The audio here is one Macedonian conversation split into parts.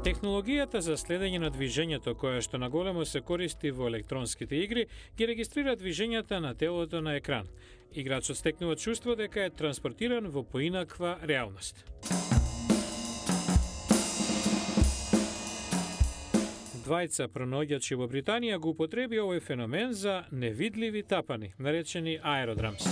Технологијата за следење на движењето, која што наголемо се користи во електронските игри, ги регистрира движењата на телото на екран. Играчот стекнува чувство дека е транспортиран во поинаква реалност. Двајца пронаоѓачи во Британија го употреби овој феномен за невидливи тапани, наречени аеродрамс.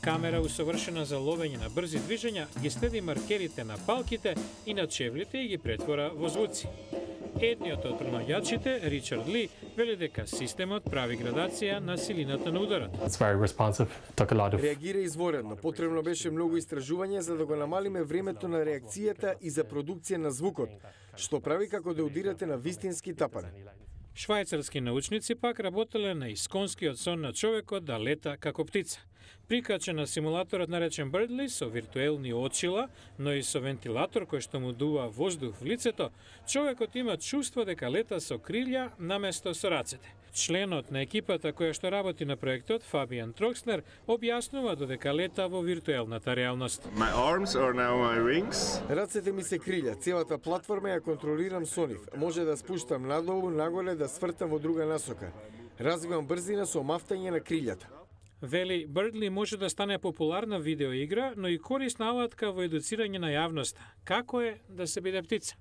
Камера усовршена за ловење на брзи движења ги следи маркерите на палките и на чевлите и ги претвора во звуци. Едниот од пронаоѓачите, Ричард Ли, вели дека системот прави градација на силината на ударот. Реагира изворедно. Потребно беше многу истражување за да го намалиме времето на реакцијата и за продукција на звукот, што прави како да удирате на вистински тапани. Швајцарски научници пак работеле на исконскиот сон на човекот да лета како птица. Прикачен на симулаторот наречен Birdly со виртуелни очила, но и со вентилатор кој што му дува воздух в лицето, човекот има чувство дека лета со крилја наместо со рацете. Членот на екипата која што работи на проектот, Фабијан Трокснер, објаснува додека лета во виртуелната реалност. Рацете ми се крилја, целата платформа ја контролирам со нив. Може да спуштам надолу, нагоре, да свртам во друга насока. Развивам брзина со омафтање на крилјата. Вели, Birdly може да стане популарна видеоигра, но и корисна алатка во едуцирање на јавноста. Како е да се биде птица?